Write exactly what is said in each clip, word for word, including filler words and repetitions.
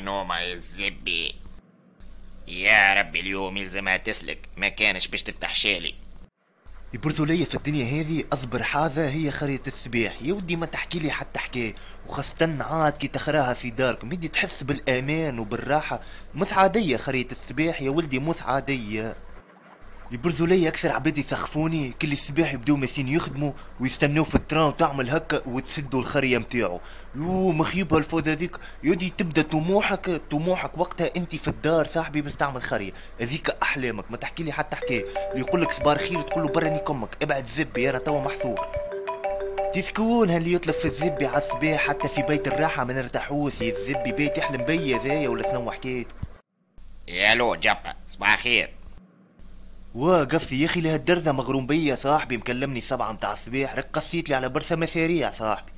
نومة يا الزبي. يا ربي اليوم يلزمها تسلك، ما كانش باش تتحشالي. يبرزوا لي في الدنيا هذه أصبر حاذة هي خرية الصباح. يا ودي ما تحكي لي حتى حكاية، وخاصة عاد كي تخراها في داركم يدي تحس بالأمان وبالراحة. مش عادية خرية الصباح يا ولدي، مش عادية. يبرزوا لي أكثر عباد يسخفوني كل الصباح يبداو ماشيين يخدموا ويستناو في ال train وتعمل هكا وتسدوا الخرية متاعو. يو مخيبها الفوز هذيك يودي. تبدا طموحك طموحك وقتها انت في الدار صاحبي باش تعمل خرية هذيك احلامك. ما تحكي لي حتى حكاية. اللي يقول لك صبار خير تقول له برا كمك ابعد زبي انا توا محصور. تسكون هاللي يطلب في الزبي على الصباح حتى في بيت الراحة ما نرتاحوش. يا الزبي بيت يحلم بيا ذايا ولا شنو حكايته؟ يا لو جبا صباح خير. واقف يا اخي لهالدرزه مغروم بيا صاحبي، مكلمني سبعة متاع الصباح رك قصيت لي على برشا مشاريع صاحبي.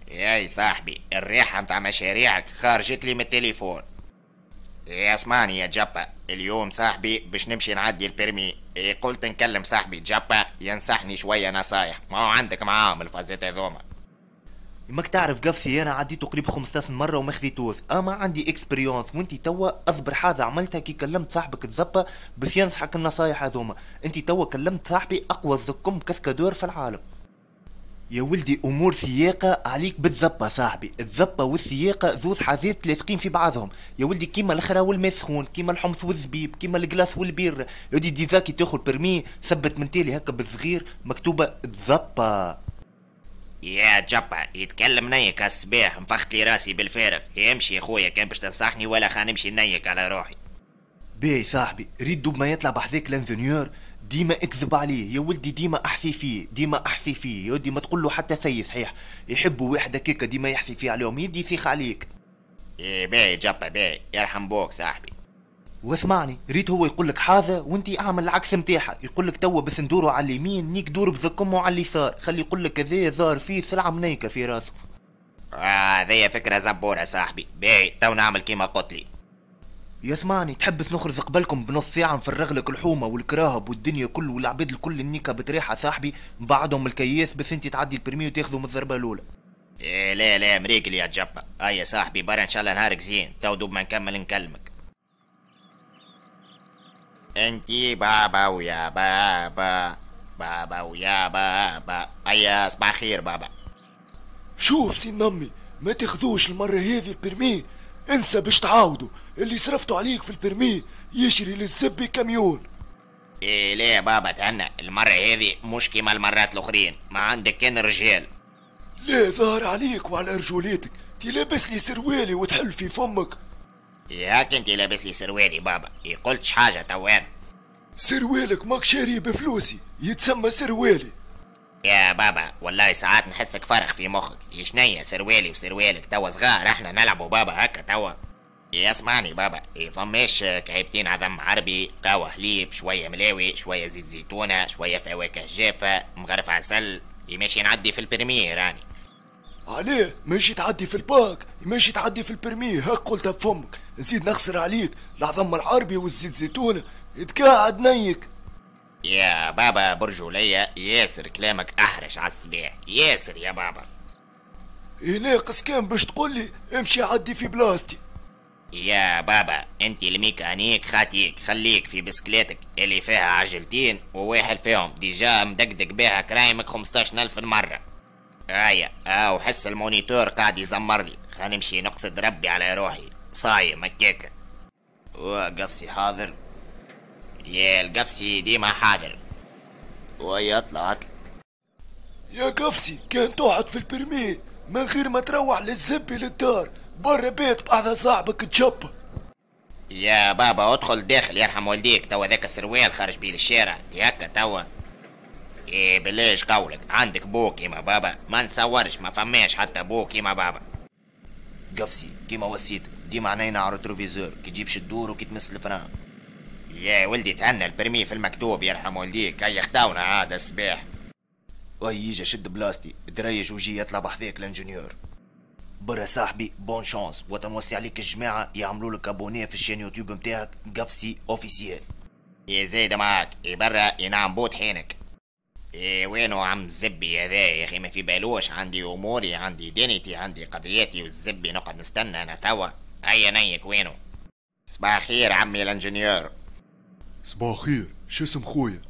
ياي صاحبي الريحة متاع مشاريعك خرجت لي من التليفون. يا اسمعني يا جبا، اليوم صاحبي باش نمشي نعدي ال permis، قلت نكلم صاحبي جبا ينصحني شوية نصايح، ما هو عندك معاهم الفازات هذوما. ماك تعرف قفصي انا عديته قريب خمسطاش مرة وما خذيتوش، اما عندي expérience. وانت توا اصبر حاجة عملتها كي كلمت صاحبك تزبا باش ينصحك النصايح هذوما. انت توا كلمت صاحبي اقوى زكم cascadeur في العالم. يا ولدي امور سياقه عليك بالزبه صاحبي، الزبه والسياقه زوز حاجات لاصقين في بعضهم يا ولدي، كيما الخرا والماء سخون، كيما الحمص والزبيب، كيما ال glace والبير. يا ولدي déjà كي تاخذ permis ثبت من تالي هكا بالصغير مكتوبة الزبه. يا جبا يتكلم نيك الصباح نفخت لي راسي بالفارغ. يمشي يا خويا كان باش تنصحني ولا خا نمشي نيك على روحي. باهي صاحبي ريد دوب ما يطلع بحذاك l'ingénieur ديما اكذب عليه يا ولدي، ديما احثي فيه ديما احثي فيه يا ولدي، ما تقول له حتى ثي صحيح. يحبوا واحد هكاكا ديما يحثي فيه عليهم يدي يثيخ عليك. ايه باهي جبا باهي يرحم بوك صاحبي. واسمعني ريت هو يقول لك حاجة وانت اعمل العكس نتاعها. يقول لك توا بس ندورو على اليمين نيك دور بزكمه على اليسار، خلي يقول لك كذا ظهر فيه سلعه منيكه في راسه. اه هذه فكرة زبوره صاحبي، باهي تو نعمل كيما قلت لي. يسمعني تحب نخرج قبلكم بنص ساعة نفرغ لك الحومه والكراهب والدنيا كل والعباد الكل النيكه بتريحه صاحبي بعدهم الكياس بس انت تعدي ال permis وتاخذه من الضربة الاولى. إيه لا لا مريقل يا جبا. هيا صاحبي برا ان شاء الله نهارك زين، تو دوب ما نكمل نكلمك. انتي بابا ويا بابا بابا ويا بابا. هيا صباح خير بابا. شوف سي نمي ما تاخذوش المرة هذه ال permis، انسى باش تعاودوا. اللي صرفتوا عليك في ال permis يشري للزبي كاميون. ايه لا بابا تهنى، المرة هذه مش كيما المرات الاخرين، ما عندك كان رجال. لا ظهر عليك وعلى رجوليتك، تي لابس لي سروالي وتحل في فمك. ياك انت لابس لي سروالي بابا، قلتش حاجة توان. سروالك ماك شاريه بفلوسي يتسمى سروالي. يا بابا والله ساعات نحسك فرخ في مخك. يشنيا سروالي وسروالك توا صغار احنا نلعبوا بابا هكا توا. يا اسمعني بابا، فماش كعيبتين عظم عربي، قهوة حليب، شوية ملاوي، شوية زيت زيتونة، شوية فواكه جافة، مغرف عسل، ماشي نعدي في ال permis راني. عليه ماشي تعدي في الباك ماشي تعدي في ال permis، هاك قلتها بفمك. نزيد نخسر عليك العظم العربي والزيت زيتونة تقاعد نيك. يا بابا برجولية ياسر كلامك احرش على الصباح ياسر يا بابا. إيه ناقص كان باش تقولي امشي عدي في بلاصتي. يا بابا انت الميكانيك خاتيك، خليك في بسكليتك اللي فيها عجلتين وواحد فيهم déjà مدقدق بيها كرايمك خمستاش ألف مرة. هيا اه وحس ال moniteur قاعد يزمر لي، خلينا نمشي نقصد ربي على روحي صايم هكاكا. وقفسي حاضر يا القفسي ديما حاضر. ويا اطلع اطلع يا قفسي، كان تقعد في ال permis من غير ما تروح للزبي للدار برا بيت بعد صاحبك تشب. يا بابا ادخل داخل يرحم والديك، توا ذاك السروال خارج بيه للشارع هكا توا. ايه بلاش قولك عندك بو كيما بابا، ما نتصورش ما فماش حتى بو كيما بابا. قفسي كيما وصيت ديما عينينا على ال rétroviseur كي تجيبش الدور وكي تمس ال frein. يا ولدي تهنى ال permis في المكتوب يرحم والديك، هيا خداونا عاد الصباح. اي يجي شد بلاصتي دريج وجي يطلع بحذاك l'ingénieur. برا صاحبي bonne chance، وتنوصي عليك الجماعة يعملوا لك abonner في ال chaîne YouTube نتاعك قفسي officiel. يا زايدة معاك برا ينعم بوت حينك. إيه وينو عم الزبي هذا يا اخي، ما في بالوش عندي اموري عندي دنيتي عندي قضيتي والزبي نقعد نستنى انا توا. هيا نيك وينو. صباح خير عمي ال ingénieur. صباح خير، شو اسم خويا؟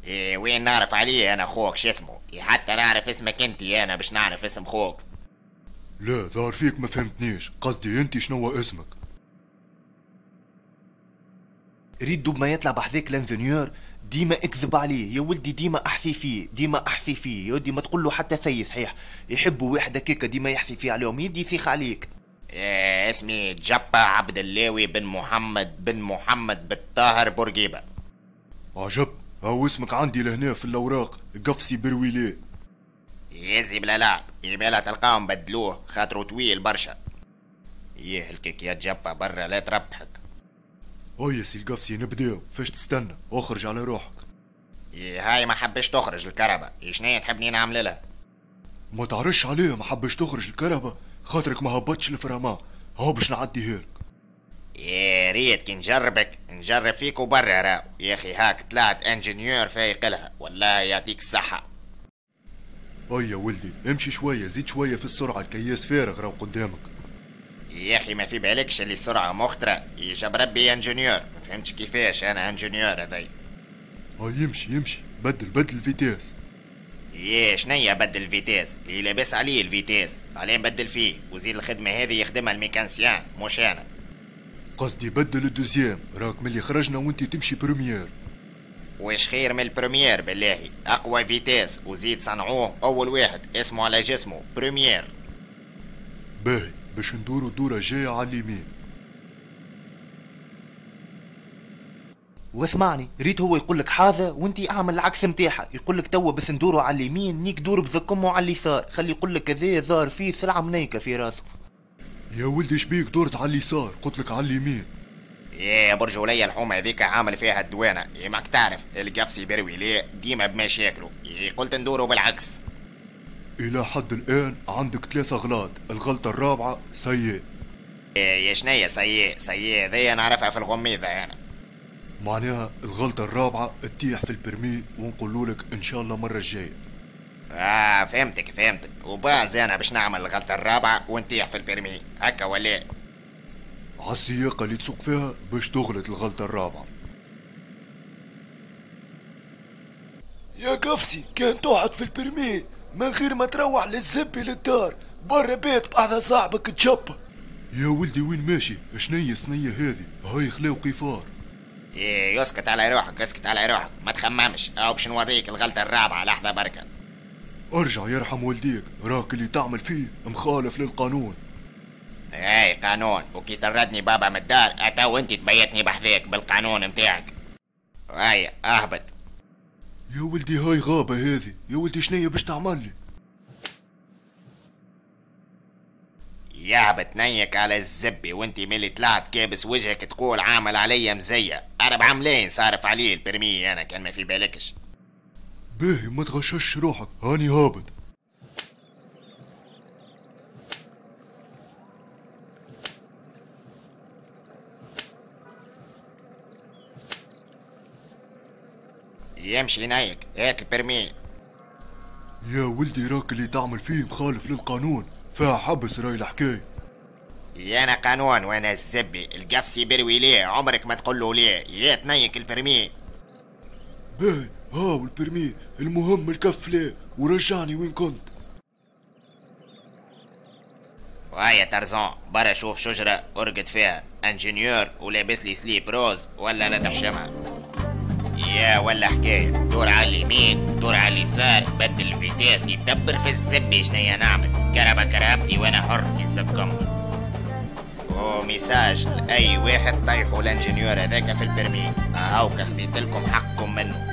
إيه وين نعرف عليه انا خوك شو اسمه؟ حتى نعرف اسمك انت انا باش نعرف اسم خوك. لا ظهر فيك ما فهمتنيش، قصدي انت شنو اسمك؟ ريد دوب ما يطلع بحذاك ال ingénieur ديما اكذب عليه يا ولدي، ديما احثي فيه، ديما احثي فيه يا ولدي، ما تقول له حتى ثي صحيح، يحبوا واحد هكاك ديما يحثي فيه عليهم، يدي يثيخ عليك. إيه اسمي جبا عبد اللاوي بن محمد بن محمد بالطاهر بورقيبة. عجب، هاو اسمك عندي لهنا في الاوراق، قفصي برويلي. يزي بلا لعب، يبالا تلقاهم بدلوه خاطرو طويل برشا. يهلكك يا جبا برا لا تربحك. هيا سي القفصي نبداو، فاش تستنى؟ اخرج على روحك. إيه هاي ما حبش تخرج الكهرباء، شنيا تحبني نعمل لها؟ ما تعرفش عليه ما حبش تخرج الكهرباء خاطرك ما هبطش ال frein à main، هاو باش نعديها لك. يا ريت كي نجربك نجرب فيك وبرا راو يا اخي، هاك طلعت ingénieur فايق لها، والله يعطيك الصحة. هيا ولدي امشي شوية، زيد شوية في السرعة، الكياس فارغ راهو قدامك. يا اخي ما في بالكش اللي السرعة مخطرة، يجاب ربي ingénieur، ما فهمتش كيفاش انا ingénieur هذاي. هاي يمشي يمشي، بدل بدل ال vitesse. يا شنيا بدل ال vitesse؟ اللي لاباس عليه ال vitesse، عليه نبدل فيه، وزيد الخدمة هذه يخدمها ال mécanicien مش انا. قصدي بدل ال deuxième، راك ملي خرجنا وانت تمشي première. واش خير من ال première بالله، اقوى vitesse وزيد صنعوه اول واحد اسمه على جسمه première. باهي باش ندورو الدورة الجاية على اليمين. واسمعني، ريت هو يقول لك حاجة وانت اعمل العكس نتاعها، يقول لك توا بس ندورو على اليمين نيك دور بزكمه على اليسار، خلي يقول لك كذا ظهر فيه سلعة منيكة في راسه. يا ولدي شبيك دورت على اليسار؟ قلت لك على اليمين. يا برجولية الحومة هذيك عامل فيها الدوانة، يا ماك تعرف القفصي بروي ليه ديما بمشاكله، قلت ندورو بالعكس. إلى حد الآن عندك ثلاثة غلط، الغلطة الرابعة سيء. يا شنيا سيء؟ سيء ذي نعرفها في الغميضة أنا. معناها الغلطة الرابعة تطيح في ال permis ونقولوا لك إن شاء الله المرة الجاية. آه فهمتك فهمتك، وباز أنا باش نعمل الغلطة الرابعة ونطيح في ال permis هكا ولا؟ عالسياقة اللي تسوق فيها باش تغلط الغلطة الرابعة. يا قفصي كان تقعد في ال permis من غير ما تروح للزبي للدار، برا بيت بحذا صاحبك تشبه. يا ولدي وين ماشي؟ شنية الثنية هذه؟ هاي خلاو قفار. إيه يسكت على روحك اسكت على روحك، ما تخممش، أو باش نوريك الغلطة الرابعة لحظة بركة. ارجع يرحم والديك، راك اللي تعمل فيه مخالف للقانون. اي قانون، وكي طردني بابا من الدار اتو انت تبيتني بحذاك بالقانون متاعك. هيا اهبط. يا ولدي هاي غابة هذه، يا ولدي شنية باش تعمل لي؟ يهبط نيك على الزبي وانت ملي طلعت كابس وجهك تقول عامل عليا مزية، أربعة ملايين صارف عليه ال permis انا كان ما في بالكش. باهي ما تغشش روحك، هاني هابط. يمشي نايك، هات ال permis. يا ولدي راك اللي تعمل فيه مخالف للقانون، فيها حبس راي الحكاية. يا انا قانون وانا الزبي، القفصي بروي ليه عمرك ما تقول له ليه، يا تنيك ال permis. باهي هاو ال permis، المهم الكف ليه ورجعني وين كنت. وهيا ترزان برا شوف شجرة ارقد فيها، ingénieur ولابس لي slip rose ولا لا تحشمها. يا ولا حكاية، دور على اليمين دور على اليسار، بدل ال vitesse يدبر في الزبي شنيا نعمل، كربة كرهبتي وانا حر في زبكم. و message لأي واحد طيحوا ال ingénieur هذاك في ال permis، هاوكا خديت لكم حقكم منه.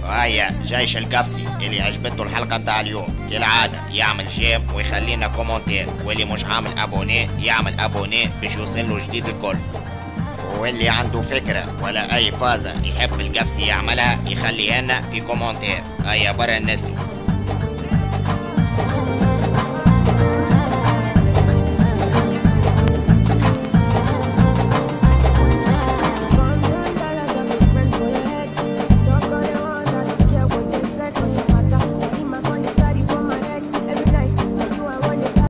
هيا جيش القفصي اللي عجبته الحلقة متاع اليوم كالعادة يعمل j'aime ويخلينا commentaire، واللي مش عامل abonné يعمل abonné باش يوصل له جديد الكل. واللي عنده فكرة ولا أي فازة يحب القفصي يعملها يخليها لنا في commentaire. هيا برا النستو.